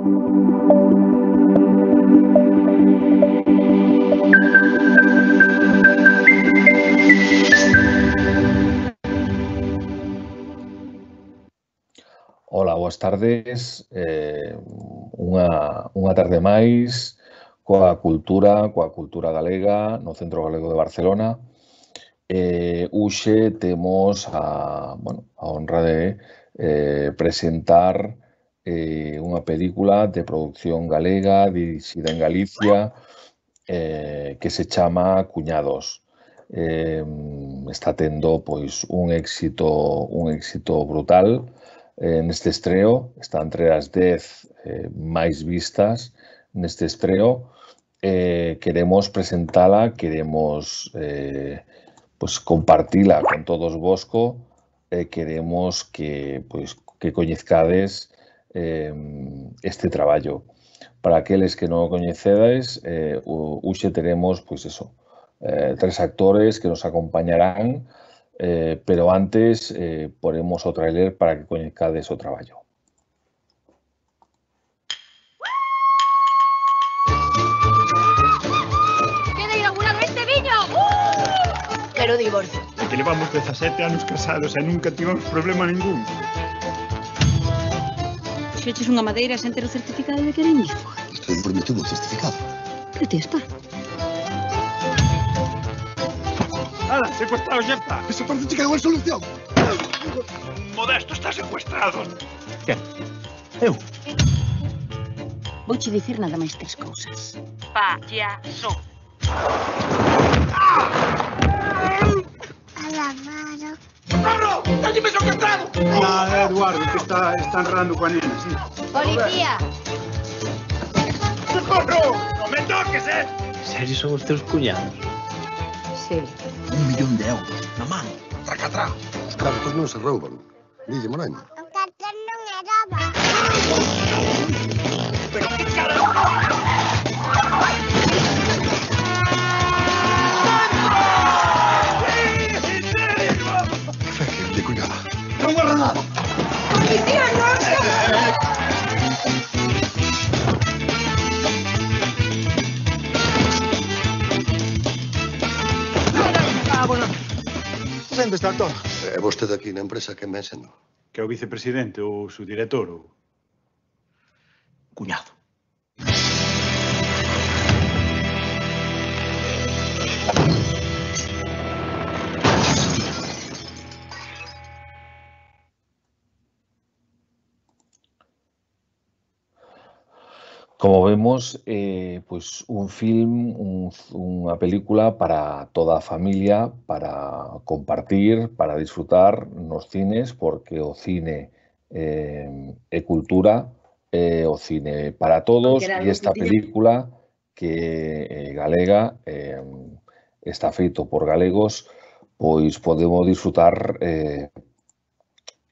Ola, boas tardes. Unha tarde máis coa cultura galega no Centro Galego de Barcelona. Hoxe temos a honra de presentar unha película de produción galega dirixida en Galicia que se chama Cuñados. Está tendo pois un éxito brutal neste estreo. Está entre as 10 máis vistas neste estreo. Queremos presentala, queremos pois compartila con todos vosco, queremos que coñezcades este traballo. Para aqueles que non o coñecedes, hoxe teremos, pois eso, 3 actores que nos acompañarán, pero antes poremos o tráiler para que coñezcades o traballo. Queda inaugurado este viño! Pero divorcio. É que levamos 17 anos casados e nunca tivemos problema ningún. Fixeches unha madeira sen ter o certificado de que era inicio. Estoy prometido o certificado. Que te está? ¡Hala, secuestrado ya está! Esa parece que é unha solución. Modesto está secuestrado. Que? Eu? Vouche dicir nada máis 3 cousas. Payaso. Alamaro. ¡Pablo! ¡Teñeme secuestrado! Nada, Eduardo, que está enredando coa nena, sí. Policía. ¡Socorro! ¡No me toques, eh! Serio son os teus cuñados? Sí. 1.000.000 de euros na man. Tracatrá. Os cartos non se rouban. Dille, Moraima. O cartón non é roba. ¡Pero qué carajo! Que fe que de cuñada. Non me nada. ¡Policía, no! Onde está todo? É vostede aquí na empresa que me sendo. Que é o vicepresidente ou o subdirector ou... Cuñado. Como vemos, pois un film, unha película para toda a familia, para compartir, para disfrutar nos cines, porque o cine é cultura, o cine para todos, e esta película que é galega, está feito por galegos, pois podemos disfrutar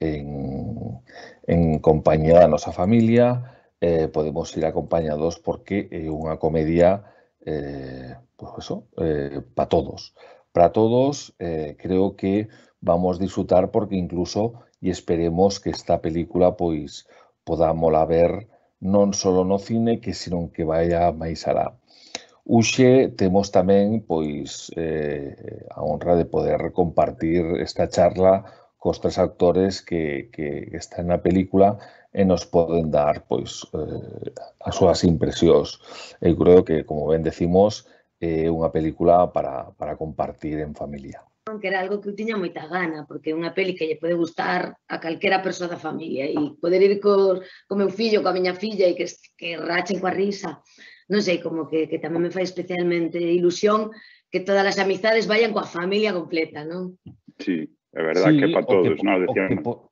en compañía da nosa familia. Podemos ir acompañados porque é unha comedia para todos. Para todos creo que vamos disfrutar porque incluso e esperemos que esta película pois podámola ver non só no cine, que senón que vaya máis alá. Hoxe temos tamén pois a honra de poder compartir esta charla cos 3 actores que están na película e nos poden dar pois as súas impresións. Eu creo que, como ben decimos, é unha película para compartir en familia. Que era algo que eu tiña moita gana, porque é unha peli que lle pode gustar a calquera persoa da familia e poder ir co meu fillo, coa miña filla e que rachen coa risa. Non sei, como que tamén me fai especialmente ilusión que todas as amizades vayan coa familia completa, non? Sí. É verdade que é para todos, non?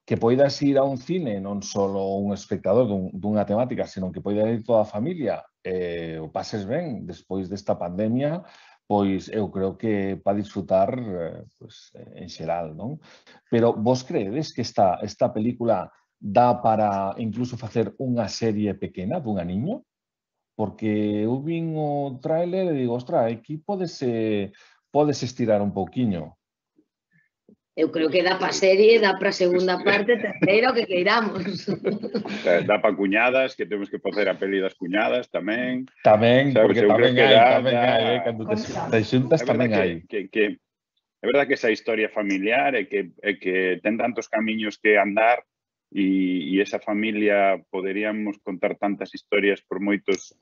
Que poidas ir a un cine, non só un espectador dunha temática, senón que poida ir toda a familia, o pases ben despois desta pandemia, pois eu creo que para disfrutar en xeral, non? Pero vos creedes que esta película dá para incluso facer unha serie pequena dun aniño? Porque eu vin o tráiler e digo, ostra, aquí podes estirar un pouquiño. Eu creo que dá para serie, dá para segunda parte, terceira, o que queiramos. Dá para cuñadas, que temos que facer a peli das cuñadas tamén. Tamén, Sabes, porque eu creo tamén que hai, cando te xuntas É tamén verdade hai. é verdade que esa historia familiar é que ten tantos camiños que andar e esa familia poderíamos contar tantas historias por moitos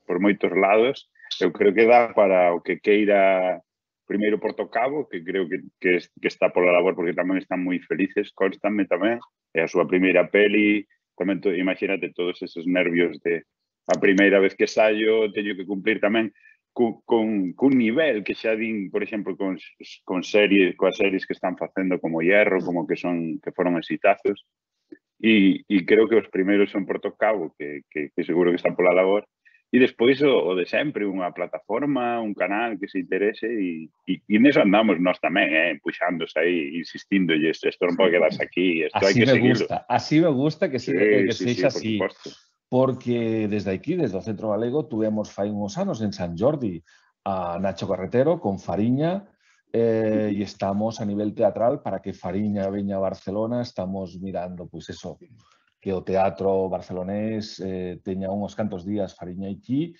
lados. Eu creo que dá para o que queira primeiro Portocabo, que creo que está pola labor porque tamén están moi felices, constanme tamén, é a súa primeira peli, tamén imagínate todos esos nervios de a primeira vez que saio, teño que cumplir tamén cun nivel que xa din, por exemplo, coas series que están facendo como Hierro, como que foron exitazos, e creo que os primeiros son Portocabo, que seguro que están pola labor. E despois o de sempre, unha plataforma, un canal que se interese e neso andamos nós tamén, puxándose aí, insistindolles, isto non pode quedarse aquí, isto hai que seguirlo. Así me gusta que sexa así, por suposto. porque desde aquí, desde o Centro Galego, tuvemos fai uns anos en Sant Jordi a Nacho Carretero con Fariña e estamos a nivel teatral para que Fariña veña a Barcelona, estamos mirando, pois eso, que o teatro barcelonés teña uns cantos días Fariña aquí.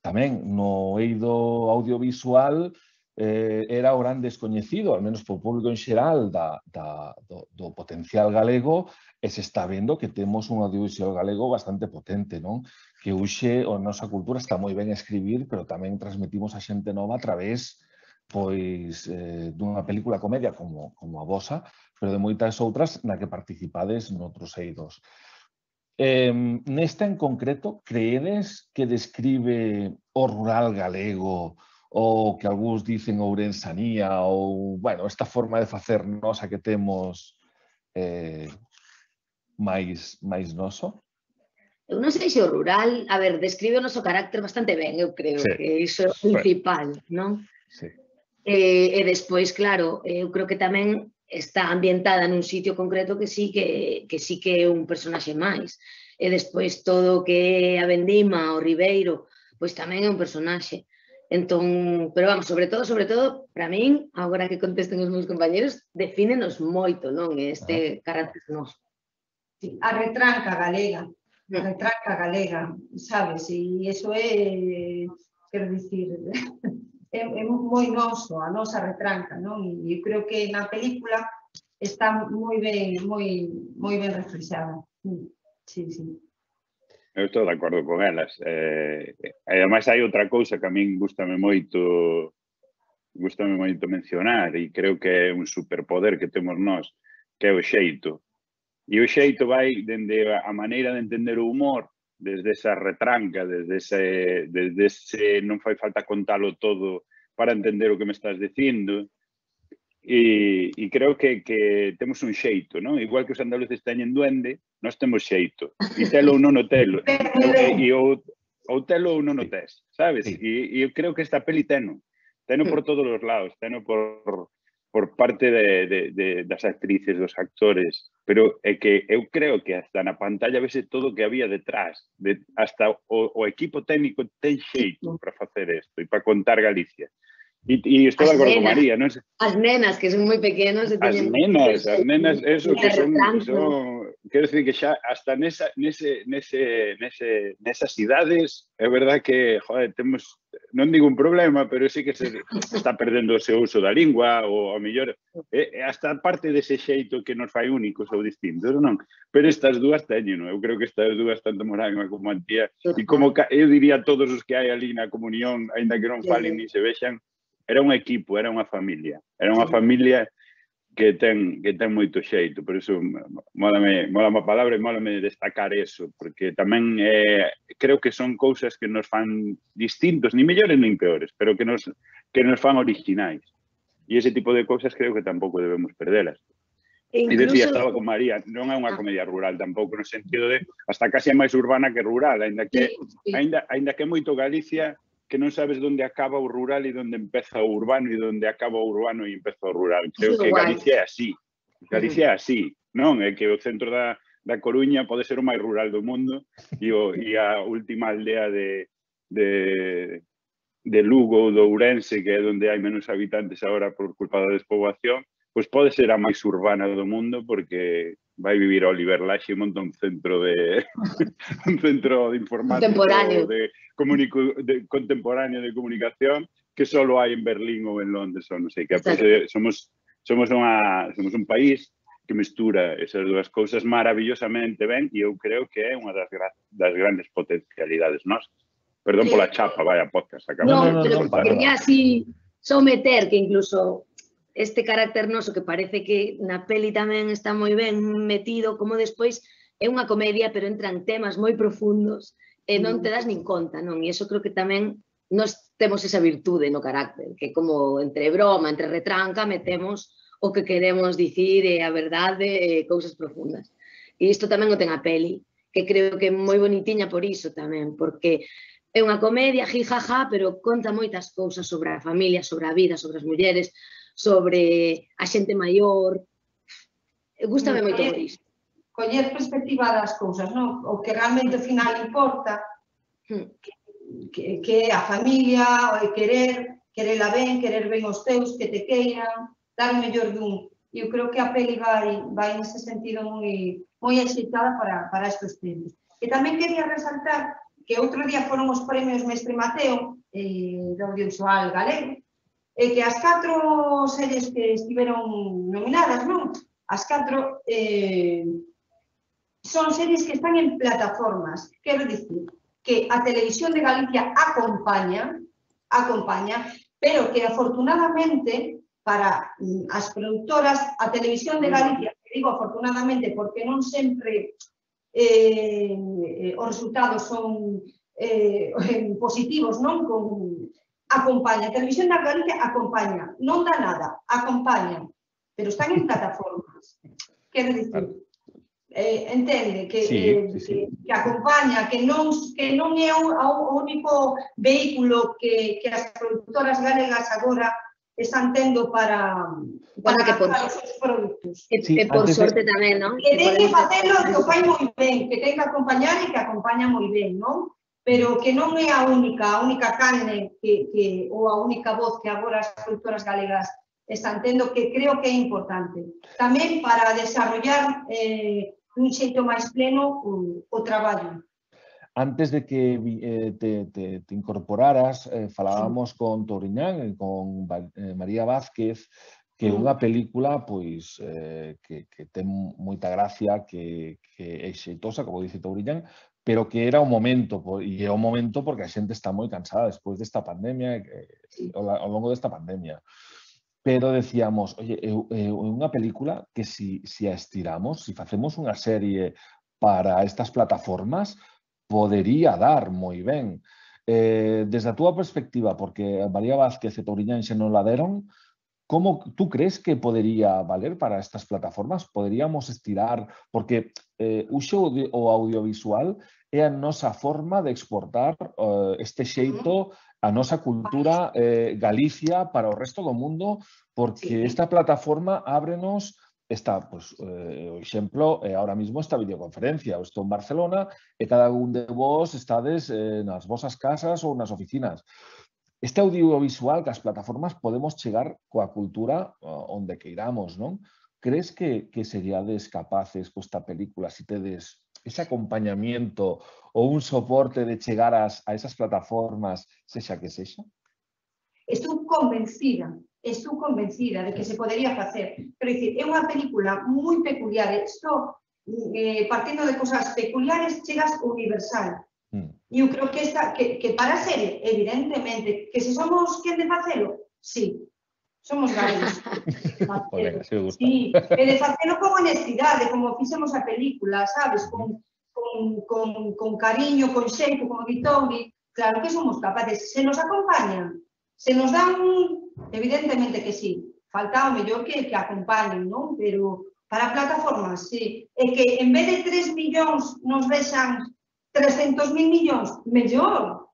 Tamén no eido audiovisual era o gran descoñecido, al menos polo público en xeral, do potencial galego, e se está vendo que temos un audiovisual galego bastante potente, non? Que hoxe a nosa cultura está moi ben escribir, pero tamén transmitimos a xente nova a través dunha película comedia como a vosa, pero de moitas outras na que participades noutros eidos. Nesta en concreto, creedes que describe o rural galego ou que algúns dicen ourensanía ou, bueno, esta forma de facer nosa que temos máis noso? Eu non sei se o rural, a ver, describe o noso carácter bastante ben, eu creo que iso é o principal, non? Sí. E despois, claro, eu creo que tamén está ambientada nun sitio concreto que sí que é un personaxe máis. E despois todo o que é a Vendima, o Ribeiro, pois tamén é un personaxe. Entón, pero vamos, sobre todo, para min, agora que contesten os meus compañeros, defínenos moito, non? Este carácter noso. Sí, a retranca galega, sabes? E iso é, quero dicir, é moi noso, a nosa retranca, non? E eu creo que na película está moi ben reflexada. Sí. Eu estou de acordo con elas. Ademais, hai outra cousa que a min gustame moito mencionar e creo que é un superpoder que temos nós, que é o xeito. E o xeito vai dende a maneira de entender o humor, desde esa retranca, desde ese non fai falta contalo todo para entender o que me estás dicindo. E creo que temos un xeito, non? Igual que os andaluces teñen duende, nós temos xeito. E telo ou non o telo. E ou telo ou non o tes, sabes? E eu creo que esta peli teno por todos os lados, teno por parte das actrices, dos actores, pero é que eu creo que hasta na pantalla vese todo o que había detrás, hasta o equipo técnico ten xeito para facer isto e para contar Galicia. E estou de acordo con María, non? As nenas, que son moi pequenos. As nenas, eso, que son quero dicir que xa hasta nesas idades, é verdad que, joder, temos, non digo un problema, pero sí que se está perdendo o seu uso da lingua, ou a mellor, hasta parte dese xeito que nos fai únicos ou distintos, non? Pero estas dúas teñen, eu creo que estas dúas, tanto Moraima como Antía, e como eu diría todos os que hai ali na comunión, aínda que non falen ni se vexan, era un equipo, era unha familia que ten moito xeito, por iso mólame a palabra e mólame destacar eso, porque tamén creo que son cousas que nos fan distintos, ni mellores nin peores, pero que nos fan originais. E ese tipo de cousas creo que tampouco debemos perdelas. E decía, estaba con María, non é unha comedia rural tampouco, no sentido de hasta case é máis urbana que rural, aínda que é moito Galicia, que non sabes onde acaba o rural e onde empeza o urbano e onde acaba o urbano e empeza o rural. Creo que Galicia é así. Galicia é así, non? É que o centro da Coruña pode ser o máis rural do mundo e a última aldea de Lugo ou de Ourense, que é onde hai menos habitantes agora por culpa da despoboación, pois pode ser a máis urbana do mundo porque vai vivir Oliver Laxe e monta un centro de un centro de informático contemporáneo de comunicación que solo hai en Berlín ou en Londres ou non sei que. Somos un país que mestura esas dúas cousas maravillosamente ben e eu creo que é unha das grandes potencialidades nosas. Perdón pola chapa, vaya podcast. Non, pero quería así someter que incluso este carácter noso que parece que na peli tamén está moi ben metido, como despois é unha comedia, pero entran temas moi profundos e non te das nin conta, non? E iso creo que tamén nós temos esa virtude no carácter, que como entre broma, entre retranca, metemos o que queremos dicir e a verdade e cousas profundas. E isto tamén o ten a peli, que creo que é moi bonitiña por iso tamén, porque é unha comedia, jijaja, pero conta moitas cousas sobre a familia, sobre a vida, sobre as mulleres, sobre a xente maior. Gústame moito por iso. Coller perspectiva das cousas, non? O que realmente ao final importa, que é a familia, o querela ben, querer ben os teus, que te queiran, dar o mellor dun. E eu creo que a peli vai nese sentido moi excitada para estes temas. E tamén quería resaltar que outro día foron os premios Mestre Mateo do audiovisual galego, e que as 4 series que estiveron nominadas, non? As 4 son series que están en plataformas. Quero dicir que a Televisión de Galicia acompaña, pero que afortunadamente para as productoras, a Televisión de Galicia, que digo afortunadamente porque non sempre os resultados son positivos, non? Acompaña, a Televisión da Galicia acompaña, non dá nada, acompaña, pero están en plataformas. Quero dicir, entende, que acompaña, que non é o único vehículo que as productoras galegas agora están tendo para os seus produtos. E por sorte tamén, non? Que ten que facelo, que o fai moi ben, que ten que acompañar e que acompaña moi ben, non? Pero que non é a única carne ou a única voz que agora as productoras galegas están tendo, que creo que é importante. Tamén para desarrollar un xeito máis pleno o traballo. Antes de que te incorporaras, falábamos con Touriñán e con María Vázquez, que é unha película pois, que ten moita gracia, que é xeitosa, como dice Touriñán, pero que era o momento, e é o momento porque a xente está moi cansada despois desta pandemia, ao longo desta pandemia. Pero decíamos, oye, é unha película que si a estiramos, si facemos unha serie para estas plataformas, podería dar moi ben. Desde a túa perspectiva, porque María Vázquez e Touriñán xa non la deron, como tú crees que podería valer para estas plataformas? Poderíamos estirar, porque o audiovisual é a nosa forma de exportar este xeito, a nosa cultura Galicia para o resto do mundo, porque esta plataforma ábrenos o exemplo, ahora mismo esta videoconferencia. Eu estou en Barcelona e cada un de vos estades nas vosas casas ou nas oficinas. Este audiovisual que as plataformas podemos chegar coa cultura onde queiramos, non? Crees que seríades capaces con esta película, se tedes ese acompañamiento ou un soporte de chegar a esas plataformas, sexa que sexa? Estou convencida de que se podería facer. Pero dicir, é unha película moi peculiar. Isto, partindo de cosas peculiares, chegas universal. E eu creo que para ser, evidentemente, que se somos quen de facelo, sí, somos galegos. Sí, e de facelo con honestidade, como fixemos a película, sabes? Con cariño, con xeito, como Vitouri, claro que somos capaces. Se nos acompañan, se nos dan, evidentemente que sí, falta o mellor que acompañen, non? Pero para plataformas, sí. E que en vez de 3 millóns nos vexan 300.000 millóns, mellor,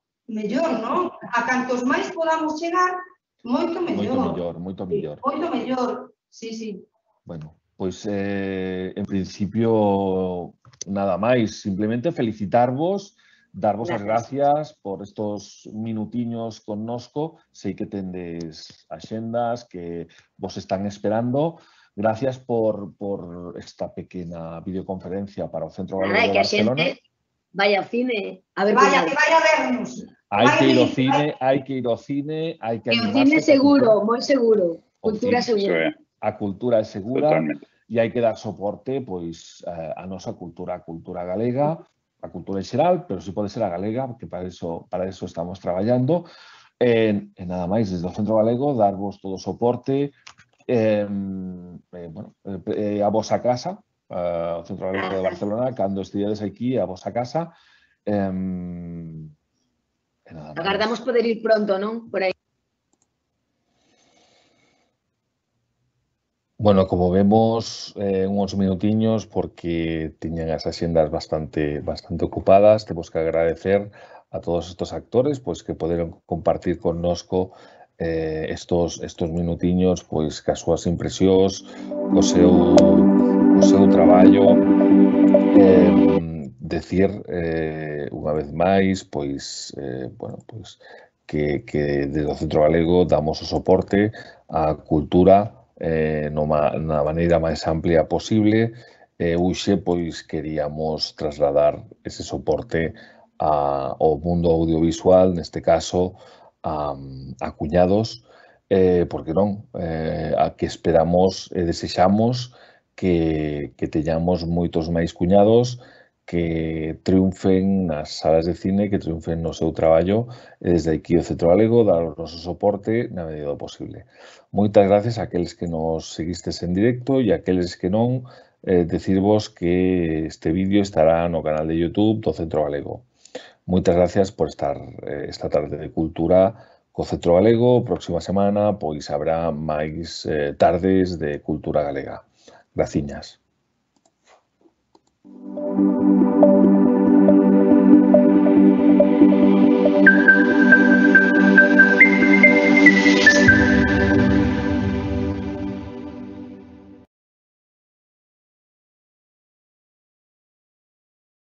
non? A cantos máis podamos chegar, moito mellor. Moito mellor. Moito mellor, sí. Bueno, pois en principio nada máis, simplemente felicitarvos darvos as Gracias. gracias por estos minutiños connosco. Sei que tendes axendas que vos están esperando. Gracias por esta pequena videoconferencia para o Centro Nada, Galego é de que a Barcelona. xente vai ao cine a ver Vaya, Cuñado. que vaya a vernos. Hai que ir ao Vaya, cine, hai que ir ao cine, hai que E o animarse. cine seguro, moi seguro. O Cultura cine, Eso segura. é, A cultura é segura totalmente. e hai que dar soporte pois a nosa cultura, a cultura galega, a cultura en xeral, pero si pode ser a galega, porque para eso estamos traballando. E nada máis, desde o Centro Galego, darvos todo o soporte a vosa casa, o Centro Galego de Barcelona, cando estivedes aquí, a vosa casa. Nada máis. Agardamos poder ir pronto, non? Por aí. Bueno, como vemos, uns minutiños, porque tiñan as axendas bastante ocupadas, temos que agradecer a todos estos actores pois que poderon compartir connosco estos minutiños pois cas súas impresións, co seu traballo. Decir unha vez máis pois que desde o Centro Galego damos o soporte á cultura na maneira máis amplia posible. Hoxe, pois, queríamos trasladar ese soporte ao mundo audiovisual, neste caso, a cuñados, porque non, a que esperamos e desexamos que teñamos moitos máis cuñados que triunfen nas salas de cine, que triunfen no seu traballo, e desde aquí o Centro Galego dar o noso soporte na medida do posible. Moitas gracias a aqueles que nos seguistes en directo e a aqueles que non, decirvos que este vídeo estará no canal de YouTube do Centro Galego. Moitas gracias por estar esta tarde de cultura co Centro Galego. Próxima semana, pois, habrá máis tardes de cultura galega. Graciñas.